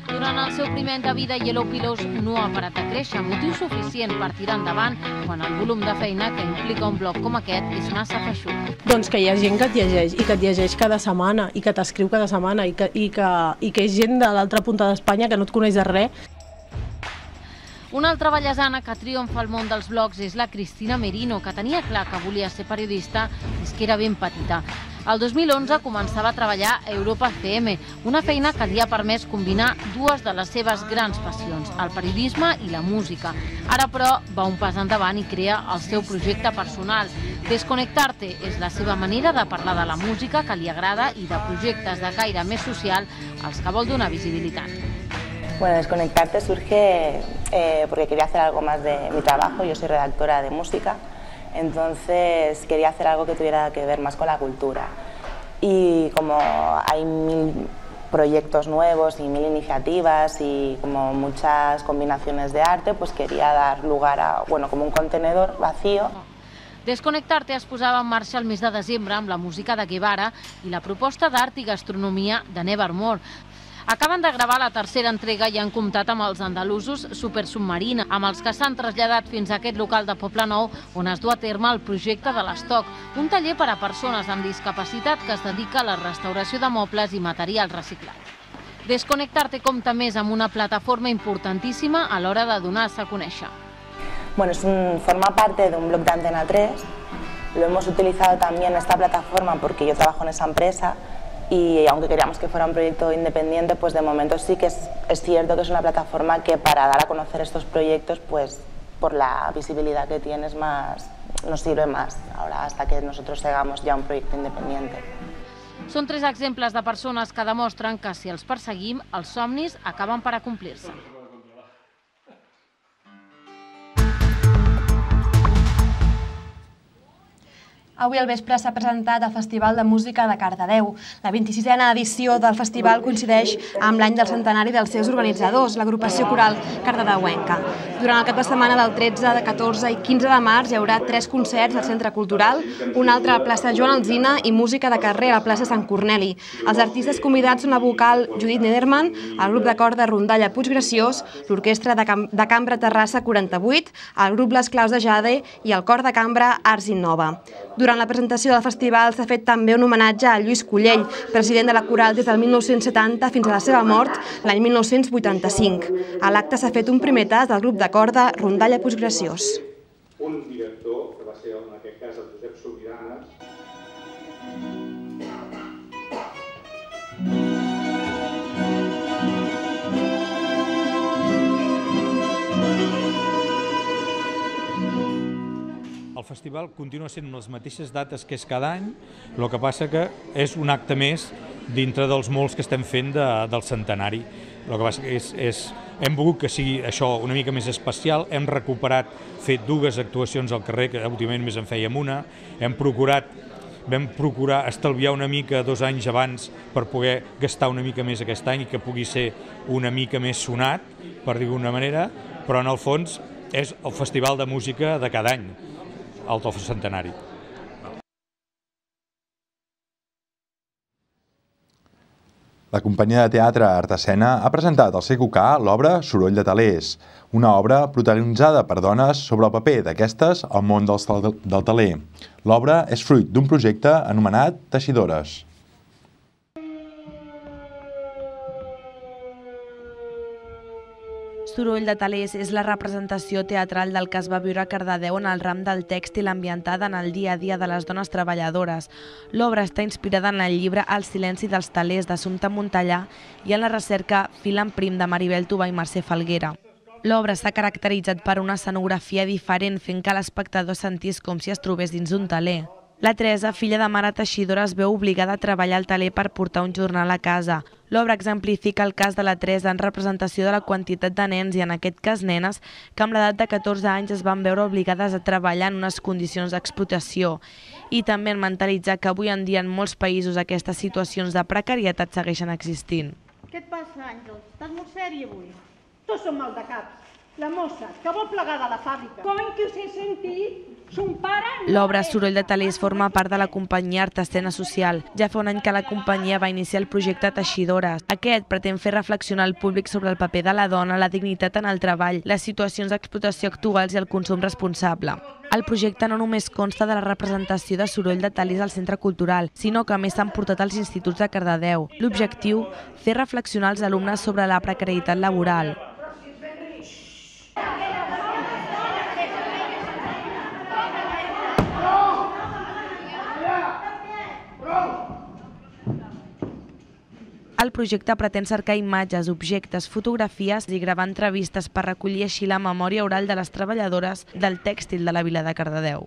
Durant el seu primer any de vida, Yellow Pillows no ha parat de créixer, motiu suficient per tirar endavant quan el volum de feina que implica un blog com aquest és massa feixuc. Doncs que hi ha gent que et llegeix, i que et llegeix cada setmana, i que t'escriu cada setmana, i que, i que, i que és gent de l'altra punta d'Espanya que no et coneix de res. Una altra ballesana que triomfa al món dels blogs és la Cristina Merino, que tenia clar que volia ser periodista des que era ben petita. El dos mil onze començava a treballar a Europa F M, una feina que li ha permès combinar dues de les seves grans passions, el periodisme i la música. Ara, però, va un pas endavant i crea el seu projecte personal. Desconnectar-te és la seva manera de parlar de la música que li agrada i de projectes de caire més social als que vol donar visibilitat. Bueno, Desconectarte surge eh, porque quería hacer algo más de mi trabajo. Yo soy redactora de música, entonces quería hacer algo que tuviera que ver más con la cultura. Y como hay mil proyectos nuevos y mil iniciativas y como muchas combinaciones de arte, pues quería dar lugar a, bueno, como un contenedor vacío. Desconnectar-te es posava en marxa el mes de desembre amb la música de Guevara i la proposta d'art i gastronomia de Nevermore. Acaben de gravar la tercera entrega i han comptat amb els andalusos Super Submarina, amb els que s'han traslladat fins a aquest local de Poblenou on es du a terme el projecte de l'Estoc, un taller per a persones amb discapacitat que es dedica a la restauració de mobles i materials reciclats. Desconnectar-te compta més amb una plataforma importantíssima a l'hora de donar-se a conèixer. Bueno, es un, forma parte de un blog de Antena tres, lo hemos utilizado también esta plataforma porque yo trabajo en esa empresa. Y aunque queríamos que fuera un proyecto independiente, pues de momento sí que es, es cierto que es una plataforma que para dar a conocer estos proyectos, pues por la visibilidad que tienes más, nos sirve más ahora hasta que nosotros hagamos ya un proyecto independiente. Són tres exemples de persones que demostren que si els perseguim, els somnis acaben per acomplir-se. Avui al vespre s'ha presentat el Festival de Música de Cardedeu. La vint-i-sisena edició del festival coincideix amb l'any del centenari dels seus organitzadors, l'agrupació coral cardedeuenca. Durant el cap de setmana del tretze, catorze i quinze de març hi haurà tres concerts al Centre Cultural, un altre a la plaça Joan Alsina i música de carrer a la plaça Sant Corneli. Els artistes convidats són la vocal Judit Nederman, el grup de corda Rondalla Puiggraciós, l'orquestra de, cam de cambra Terrassa quaranta-vuit, el grup Les Claus de Jade i el cor de cambra Arts Innova. Durant la presentació del festival s'ha fet també un homenatge a Lluís Collell, president de la coral des del mil nou-cents setanta fins a la seva mort l'any mil nou-cents vuitanta-cinc. A l'acte s'ha fet un primer tast del grup de corda Rondalla Puiggraciós. Un director, que va ser en aquest cas el Josep Sobiranes, el festival continua sent les mateixes dates que és cada any, el que passa que és un acte més dintre dels molts que estem fent de, del centenari. El que passa que és, és, hem volgut que sigui això una mica més especial, hem recuperat, fet dues actuacions al carrer, que últimament més en fèiem una, hem procurat, vam procurar estalviar una mica dos anys abans per poder gastar una mica més aquest any i que pugui ser una mica més sonat, per dir-ho d'una manera, però en el fons és el festival de música de cada any, el del centenari. La companyia de teatre Artesena ha presentat al C Q K l'obra Soroll de telers, una obra protagonitzada per dones sobre el paper d'aquestes al món del teler. L'obra és fruit d'un projecte anomenat Teixidores. Soroll de telers és la representació teatral del que es va viure a Cardedeu en el ram del tèxtil ambientada en el dia a dia de les dones treballadores. L'obra està inspirada en el llibre El silenci dels telers d'Assumpta Montellà i en la recerca Fil en prim de Maribel Tubà i Mercè Falguera. L'obra s'ha caracteritzat per una escenografia diferent, fent que l'espectador sentís com si es trobés dins un teler. La Teresa, filla de mare teixidora, es veu obligada a treballar al teler per portar un jornal a casa. L'obra exemplifica el cas de la Teresa en representació de la quantitat de nens i, en aquest cas, nenes, que amb l'edat de catorze anys es van veure obligades a treballar en unes condicions d'explotació. I també en mentalitzar que avui en dia en molts països aquestes situacions de precarietat segueixen existint. Què et passa, Àngel? Estàs molt sèria avui? Tots som mal de caps. La mossa, que vol plegar de la fàbrica. Com que us he sentit? Son pare... L'obra Soroll de telers forma part de la companyia Artesena Social. Ja fa un any que la companyia va iniciar el projecte Teixidores. Aquest pretén fer reflexionar el públic sobre el paper de la dona, la dignitat en el treball, les situacions d'explotació actuals i el consum responsable. El projecte no només consta de la representació de Soroll de telers al Centre Cultural, sinó que a més s'han portat als instituts de Cardedeu. L'objectiu, fer reflexionar els alumnes sobre la precarietat laboral. El projecte pretén cercar imatges, objectes, fotografies i gravar entrevistes per recollir així la memòria oral de les treballadores del tèxtil de la vila de Cardedeu.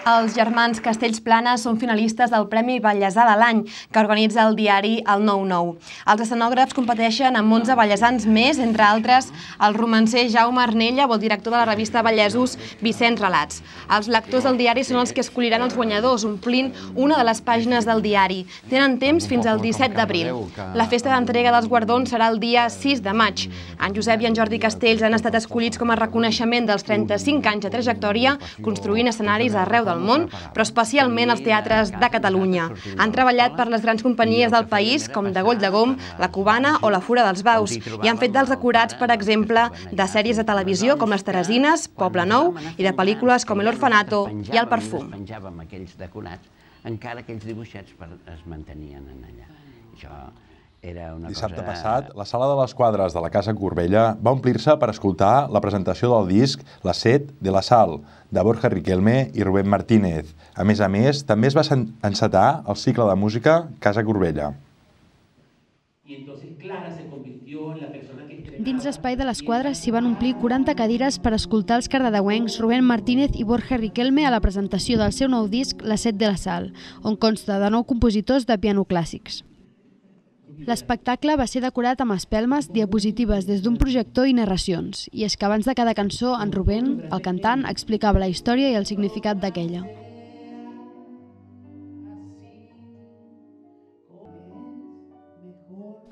Els germans Castells Planes són finalistes del Premi Vallesà de l'any, que organitza el diari El nou nou. Els escenògrafs competeixen amb onze vallesans més, entre altres el romancer Jaume Arnella o el director de la revista Vallesos, Vicenç Relats. Els lectors del diari són els que escolliran els guanyadors, omplint una de les pàgines del diari. Tenen temps fins al disset d'abril. La festa d'entrega dels guardons serà el dia sis de maig. En Josep i en Jordi Castells han estat escollits com a reconeixement dels trenta-cinc anys de trajectòria, construint escenaris arreu del món, però especialment als teatres de Catalunya. Han treballat per les grans companyies del país, com de Goll de Gom, La Cubana o La Fura dels Baus, i han fet dels decorats, per exemple, de sèries de televisió com Les Teresines, Poble Nou, i de pel·lícules com El Orfanato i El Perfum. Penjàvem aquells decorats, encara aquells dibuixets es mantenien allà. Això era una cosa... Dissabte passat, la sala de les quadres de la Casa Corbella va omplir-se per escoltar la presentació del disc La set de la sal, de Borja Riquelme i Rubén Martínez. A més a més, també es va encetar el cicle de música Casa Corbella. Dins l'espai de les quadres s'hi van omplir quaranta cadires per escoltar els cardedeuencs Rubén Martínez i Borja Riquelme a la presentació del seu nou disc La set de la sal, on consta de nou compositors de piano clàssics. L'espectacle va ser decorat amb espelmes, diapositives des d'un projector i narracions, i és que abans de cada cançó, en Rubén, el cantant, explicava la història i el significat d'aquella.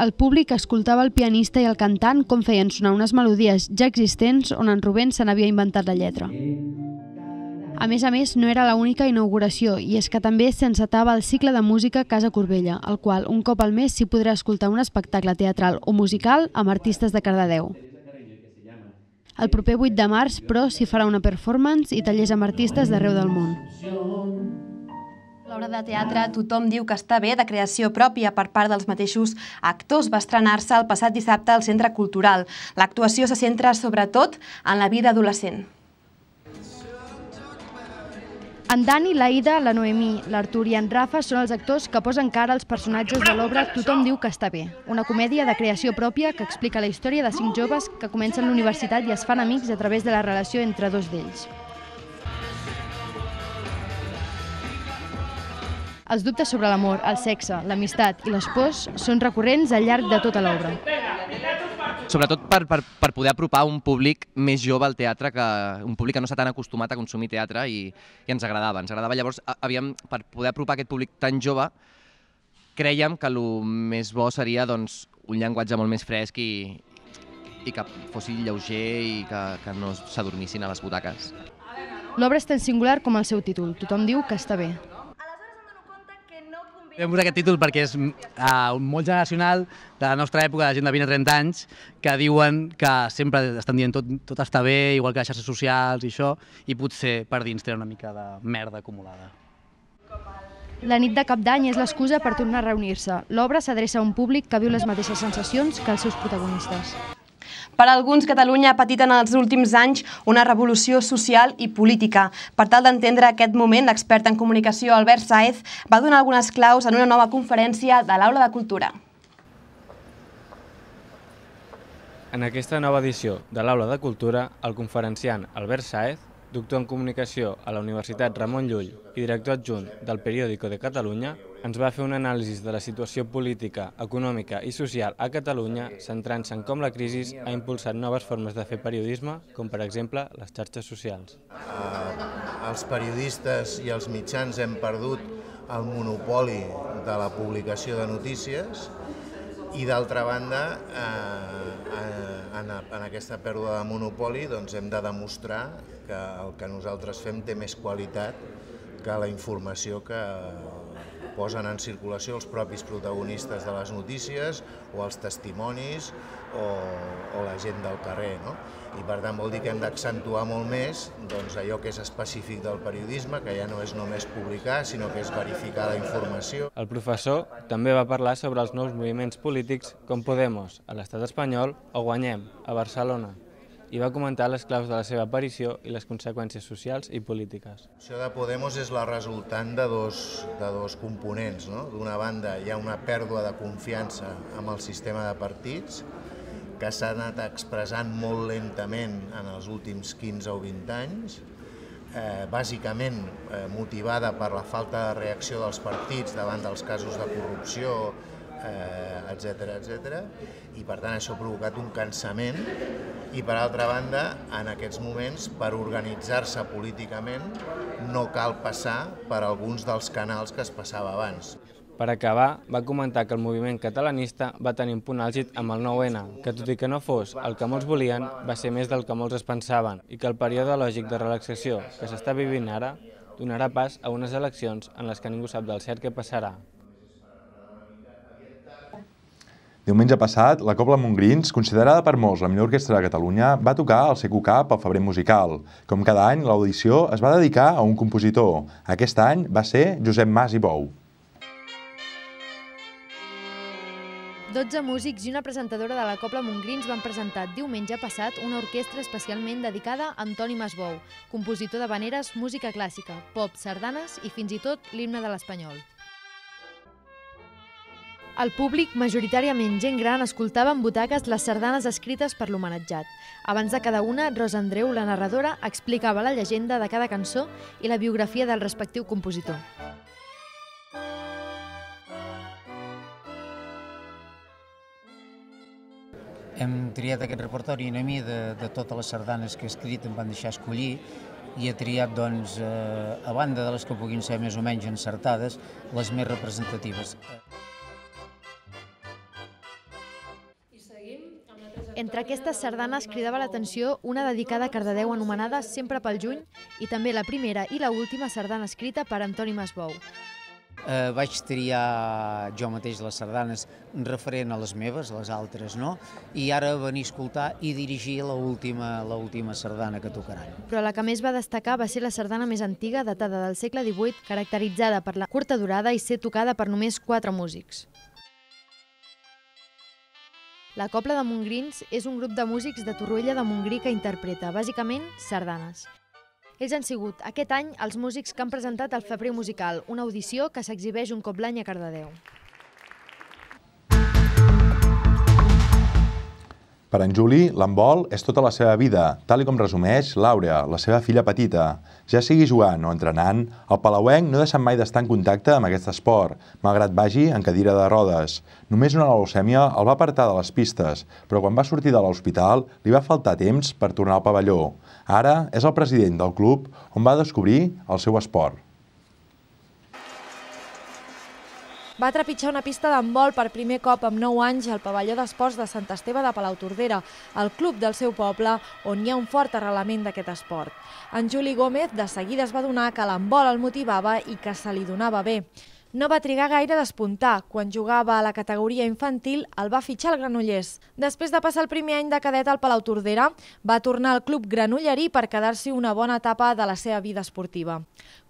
el públic escoltava el pianista i el cantant com feien sonar unes melodies ja existents on en Rubén se n'havia inventat la lletra. A més a més, no era l'única inauguració, i és que també s'encetava el cicle de música Casa Corbella, el qual un cop al mes s'hi podrà escoltar un espectacle teatral o musical amb artistes de Cardedeu. El proper vuit de març, però, s'hi farà una performance i tallers amb artistes d'arreu del món. L'obra de teatre Tothom diu que està bé, de creació pròpia per part dels mateixos actors, va estrenar-se el passat dissabte al Centre Cultural. L'actuació se centra sobretot en la vida adolescent. En Dani, l'Aida, la Noemí, l'Artur i en Rafa són els actors que posen cara als personatges de l'obra Tothom diu que està bé, una comèdia de creació pròpia que explica la història de cinc joves que comencen la universitat i es fan amics a través de la relació entre dos d'ells. Els dubtes sobre l'amor, el sexe, l'amistat i les pors són recurrents al llarg de tota l'obra. Sobretot per, per, per poder apropar un públic més jove al teatre, que un públic que no està tan acostumat a consumir teatre i, i ens agradava. Ens agradava. Llavors, havíem, per poder apropar aquest públic tan jove, crèiem que el més bo seria doncs, un llenguatge molt més fresc i, i que fos lleuger i que, que no s'adormissin a les butaques. L'obra és tan singular com el seu títol, Tothom diu que està bé. Vam posar aquest títol perquè és uh, molt generacional de la nostra època, de gent de vint a trenta anys, que diuen que sempre estan dient tot, tot està bé, igual que les xarxes socials i això, i potser per dins té una mica de merda acumulada. La nit de Cap d'Any és l'excusa per tornar a reunir-se. L'obra s'adreça a un públic que viu les mateixes sensacions que els seus protagonistes. Per a alguns, Catalunya ha patit en els últims anys una revolució social i política. Per tal d'entendre aquest moment, l'expert en comunicació Albert Sáez va donar algunes claus en una nova conferència de l'Aula de Cultura. En aquesta nova edició de l'Aula de Cultura, el conferenciant Albert Sáez, doctor en comunicació a la Universitat Ramon Llull i director adjunt del Periódico de Catalunya, ens va fer un anàlisi de la situació política, econòmica i social a Catalunya, centrant-se en com la crisi ha impulsat noves formes de fer periodisme, com per exemple les xarxes socials. Els periodistes i els mitjans hem perdut el monopoli de la publicació de notícies i, d'altra banda, en aquesta pèrdua de monopoli hem de demostrar que el que nosaltres fem té més qualitat que la informació que posen en circulació els propis protagonistes de les notícies o els testimonis o la gent del carrer. I per tant vol dir que hem d'accentuar molt més allò que és específic del periodisme, que ja no és només publicar, sinó que és verificar la informació. El professor també va parlar sobre els nous moviments polítics com Podemos a l'estat espanyol o Guanyem a Barcelona, i va comentar les claus de la seva aparició i les conseqüències socials i polítiques. Això de Podemos és la resultant de dos, de dos components. D'una banda, hi ha una pèrdua de confiança amb el sistema de partits, que s'ha anat expressant molt lentament en els últims quinze o vint anys, eh, bàsicament eh, motivada per la falta de reacció dels partits davant dels casos de corrupció, etcètera, etcètera, i per tant això ha provocat un cansament i, per altra banda, en aquests moments, per organitzar-se políticament, no cal passar per alguns dels canals que es passava abans. Per acabar, va comentar que el moviment catalanista va tenir un punt àlgid amb el nou ene, que tot i que no fos el que molts volien, va ser més del que molts es pensaven, i que el període lògic de relaxació que s'està vivint ara donarà pas a unes eleccions en les que ningú sap del cert què passarà. Diumenge passat, la Cobla Montgrins, considerada per molts la millor orquestra de Catalunya, va tocar al Seco Cup al Febrer Musical. Com cada any, l'audició es va dedicar a un compositor. Aquest any va ser Josep Mas i Bou. dotze músics i una presentadora de la Cobla Montgrins van presentar diumenge passat una orquestra especialment dedicada a Antoni Masbou, compositor d'havaneres, música clàssica, pop, sardanes i fins i tot l'himne de l'espanyol. El públic, majoritàriament gent gran, escoltava en butaques les sardanes escrites per l'homenatjat. Abans de cada una, Rosa Andreu, la narradora, explicava la llegenda de cada cançó i la biografia del respectiu compositor. Hem triat aquest repertori a mi de, de totes les sardanes que he escrit, em van deixar escollir, i he triat, doncs, eh, a banda de les que puguin ser més o menys encertades, les més representatives. Entre aquestes sardanes cridava l'atenció una dedicada a Cardedeu anomenada Sempre pel juny i també la primera i la última sardana escrita per Antoni Masbou. Eh, vaig triar jo mateix les sardanes referent a les meves, les altres no, i ara venir a escoltar i dirigir l'última sardana que tocaran. Però la que més va destacar va ser la sardana més antiga, datada del segle divuit, caracteritzada per la curta durada i ser tocada per només quatre músics. La Cobla de Montgrins és un grup de músics de Torroella de Montgrí que interpreta, bàsicament, sardanes. Ells han sigut, aquest any, els músics que han presentat el Febrer Musical, una audició que s'exhibeix un cop l'any a Cardedeu. Per en Juli, l'handbol és tota la seva vida, tal com resumeix Laura, la seva filla petita. Ja sigui jugant o entrenant, el palauenc no ha deixat mai d'estar en contacte amb aquest esport, malgrat vagi en cadira de rodes. Només una leucèmia el va apartar de les pistes, però quan va sortir de l'hospital li va faltar temps per tornar al pavelló. Ara és el president del club on va descobrir el seu esport. Va trepitjar una pista d'handbol per primer cop amb nou anys al pavelló d'esports de Sant Esteve de Palautordera, el club del seu poble, on hi ha un fort arrelament d'aquest esport. En Juli Gómez de seguida es va adonar que l'handbol el motivava i que se li donava bé. No va trigar gaire a despuntar. Quan jugava a la categoria infantil, el va fitxar el Granollers. Després de passar el primer any de cadet al Palautordera, va tornar al club granollerí per quedar-s'hi una bona etapa de la seva vida esportiva.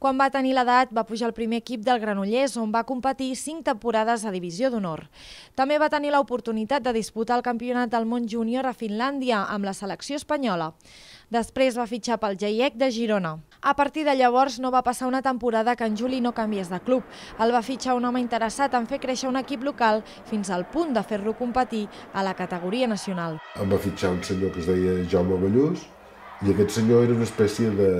Quan va tenir l'edat, va pujar al primer equip del Granollers, on va competir cinc temporades a Divisió d'Honor. També va tenir l'oportunitat de disputar el Campionat del Món Júnior a Finlàndia amb la selecció espanyola. Després va fitxar pel Jaiec de Girona. A partir de llavors no va passar una temporada que en Juli no canviés de club. El va fitxar un home interessat en fer créixer un equip local fins al punt de fer-lo competir a la categoria nacional. Em va fitxar un senyor que es deia Jaume Ballús i aquest senyor era una espècie de,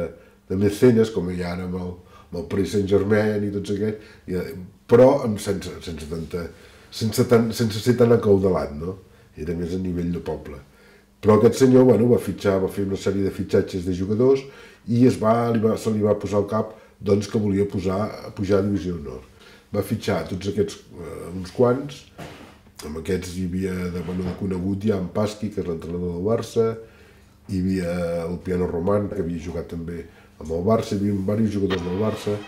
de mecenes, com hi ha ara amb el, amb el Paris Saint-Germain i tots aquests, i, però sense, sense, tanta, sense, tan, sense ser tan acaudalat, no? Era més a nivell de poble. Però aquest senyor bueno, va fitxar, va fer una sèrie de fitxatges de jugadors i es va, li va, se li va posar al cap doncs, que volia posar, pujar a Divisió d'Honor. Va fitxar tots aquests, eh, uns quants, amb aquests hi havia de, bueno, de conegut ja en Pasqui, que és l'entrenador del Barça, hi havia el Piano Roman, que havia jugat també amb el Barça, hi havia diversos jugadors del Barça.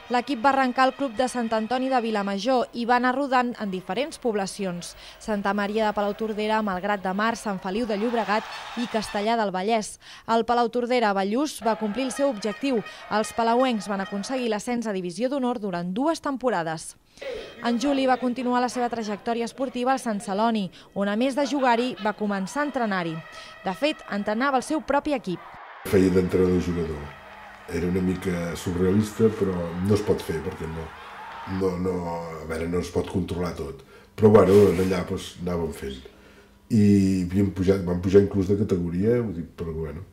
L'equip va arrencar al club de Sant Antoni de Vilamajor i va anar rodant en diferents poblacions. Santa Maria de Palautordera, Malgrat de Mar, Sant Feliu de Llobregat i Castellar del Vallès. El Palautordera Ballús va complir el seu objectiu. Els palauencs van aconseguir l'ascens a Divisió d'Honor durant dues temporades. En Juli va continuar la seva trajectòria esportiva al Sant Celoni, on a més de jugar-hi va començar a entrenar-hi. De fet, entrenava el seu propi equip. Feia d'entrenador-jugador. Era una mica surrealista, però no es pot fer, perquè no, no, no, a veure, no es pot controlar tot. Però bueno, allà doncs, anàvem fent. I havíem pujat, vam pujar inclús de categoria, ho dic, però bueno,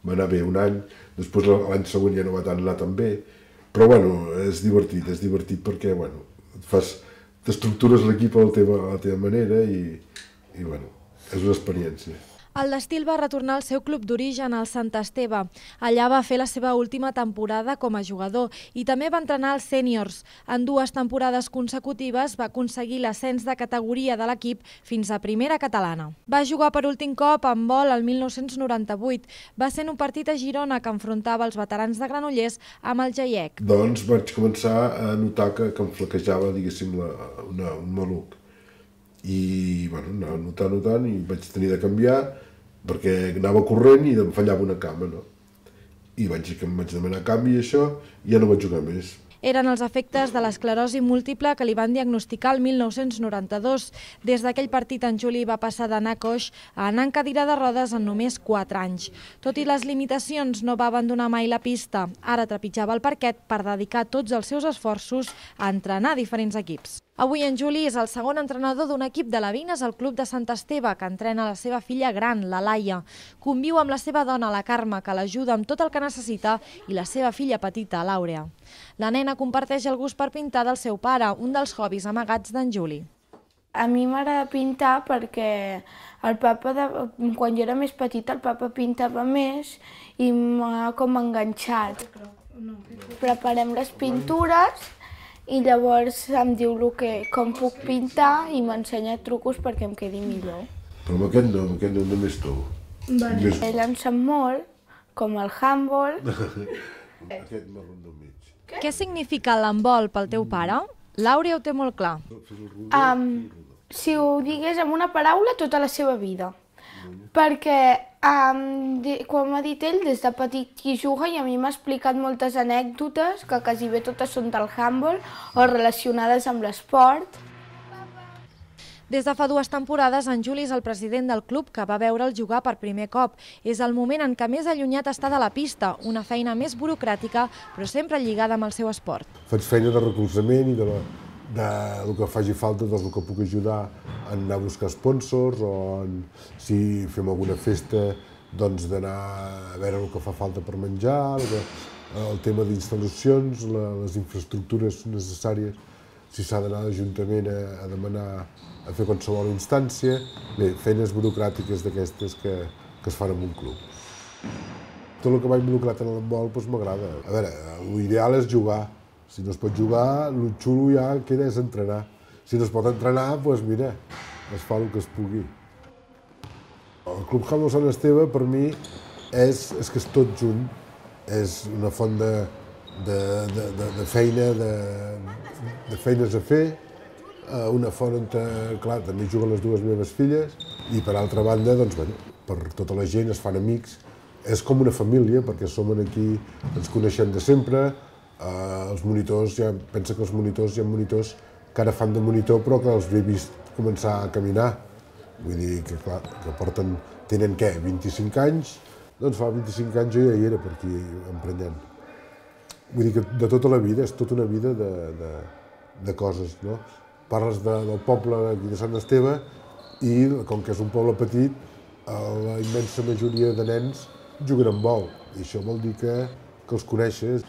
va anar bé un any, després l'any següent ja no va anar tan bé, però bueno, és divertit, és divertit perquè, bueno, fas, t'estructures l'equip a la teva, a la teva manera i, i bueno, és una experiència. El d'estil va retornar al seu club d'origen, al Sant Esteve. Allà va fer la seva última temporada com a jugador i també va entrenar als sèniors. En dues temporades consecutives va aconseguir l'ascens de categoria de l'equip fins a primera catalana. Va jugar per últim cop en vol el mil nou-cents noranta-vuit. Va ser en un partit a Girona que enfrontava els veterans de Granollers amb el Jaiec. Doncs vaig començar a notar que, que em flaquejava, diguéssim, la, una, un maluc. I bueno, anava notant, notant i vaig tenir de canviar perquè anava corrent i em fallava una cama, no? I vaig dir que em vaig demanar canvi i això, i ja no vaig jugar més. Eren els efectes de l'esclerosi múltiple que li van diagnosticar el mil nou-cents noranta-dos. Des d'aquell partit en Juli va passar d'anar coix a anar en cadira de rodes en només quatre anys. Tot i les limitacions, no va abandonar mai la pista. Ara trepitjava el parquet per dedicar tots els seus esforços a entrenar diferents equips. Avui en Juli és el segon entrenador d'un equip de la Vines al club de Sant Esteve, que entrena la seva filla gran, la Laia. Conviu amb la seva dona, la Carme, que l'ajuda amb tot el que necessita, i la seva filla petita, l'Àurea. La nena comparteix el gust per pintar del seu pare, un dels hobbies amagats d'en Juli. A mi m'agrada pintar perquè el papa, de, quan jo era més petita, el papa pintava més i m'ha com enganxat. Preparem les pintures i llavors em diu el que, com puc pintar i m'ensenya trucos perquè em quedi millor. Però amb aquest no, amb aquest no, només tu. Bueno, ell em sap molt, com el handball. Aquest marró del mig. Què significa l'handbol pel teu pare? L'Àurea ho té molt clar. Um, si ho digués amb una paraula, tota la seva vida. Perquè, um, de, com ha dit ell, des de petit hi juga i a mi m'ha explicat moltes anècdotes, que quasi bé totes són del handball o relacionades amb l'esport. Des de fa dues temporades, en Juli és el president del club que va veure'l jugar per primer cop. És el moment en què més allunyat està de la pista, una feina més burocràtica, però sempre lligada amb el seu esport. Faig feina de recolzament i de, la, de el que faci falta, del que puc ajudar a anar a buscar sponsors o en, si fem alguna festa, doncs d'anar a veure el que fa falta per menjar, el, el tema d'instal·lacions, les infraestructures necessàries, si s'ha d'anar a l'Ajuntament a, a demanar a fer qualsevol instància. Bé, feines burocràtiques d'aquestes que, que es fan en un club. Tot el que va involucrat en l'handbol doncs m'agrada. A veure, l'ideal és jugar. Si no es pot jugar, el xulo ja queda és entrenar. Si no es pot entrenar, doncs mira, es fa el que es pugui. El Club Handbol Sant Esteve, per mi, és, és que és tot junt. És una font de, de, de, de, de feina, de, de feines a fer, una font on, clar, també juguen les dues meves filles i per altra banda, doncs, bueno, per tota la gent es fan amics. És com una família, perquè som aquí, ens coneixem de sempre, eh, els monitors, ja pensa que els monitors hi ha monitors que ara fan de monitor però que els he vist començar a caminar. Vull dir que, clar, que porten, tenen què, vint-i-cinc anys? Doncs fa vint-i-cinc anys jo ja hi era per aquí emprenyant. Vull dir que de tota la vida, és tota una vida de, de, de coses, no? Parles de, del poble aquí de Sant Esteve i, com que és un poble petit, la immensa majoria de nens juguen amb vol. I això vol dir que, que els coneixes.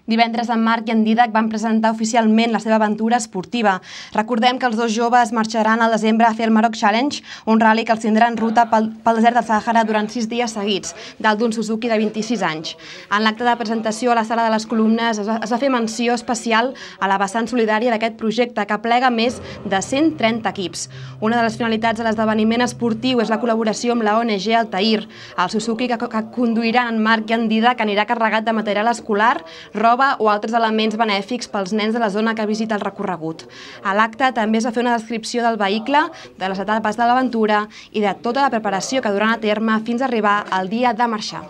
Divendres en Marc i en Dídac van presentar oficialment la seva aventura esportiva. Recordem que els dos joves marxaran al desembre a fer el Maroc Challenge, un rally que els tindrà en ruta pel, pel desert del Sàhara durant sis dies seguits, dalt d'un Suzuki de vint-i-sis anys. En l'acte de presentació a la Sala de les Columnes es va, es va fer menció especial a la vessant solidària d'aquest projecte, que plega més de cent trenta equips. Una de les finalitats de l'esdeveniment esportiu és la col·laboració amb la O N G Altair. El Suzuki que, que conduiran en Marc i en Dídac anirà carregat de material escolar, roba o altres elements benèfics pels nens de la zona que visita el recorregut. A l'acte també es va fer una descripció del vehicle, de les etapes de l'aventura i de tota la preparació que duran a terme fins a arribar al dia de marxar.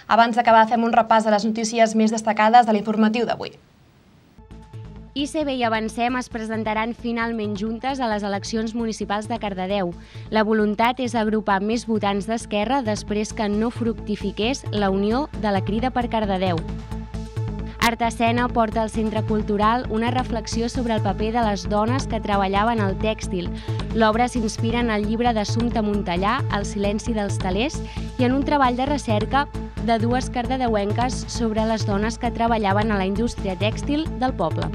Abans d'acabar, fem un repàs de les notícies més destacades de l'informatiu d'avui. I C B i Avancem es presentaran finalment juntes a les eleccions municipals de Cardedeu. La voluntat és agrupar més votants d'Esquerra després que no fructifiqués la unió de la Crida per Cardedeu. Artescena porta al Centre Cultural una reflexió sobre el paper de les dones que treballaven al tèxtil. L'obra s'inspira en el llibre d'Assumpta Montellà, El silenci dels telers, i en un treball de recerca de dues cardedeuenques sobre les dones que treballaven a la indústria tèxtil del poble.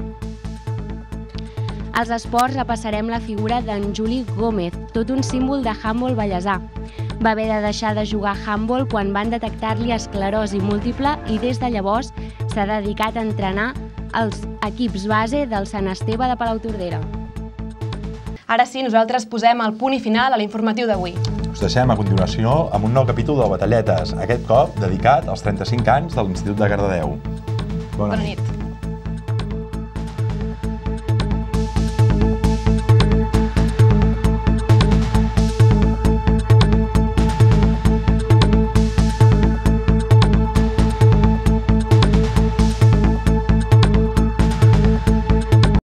Als esports repassarem la figura d'en Juli Gómez, tot un símbol de handbol ballesà. Va haver de deixar de jugar handbol quan van detectar-li esclerosi múltiple i des de llavors s'ha dedicat a entrenar els equips base del Sant Esteve de Palautordera. Ara sí, nosaltres posem el punt i final a l'informatiu d'avui. Us deixem a continuació amb un nou capítol de Batalletes, aquest cop dedicat als trenta-cinc anys de l'Institut de Cardedeu. Bona nit.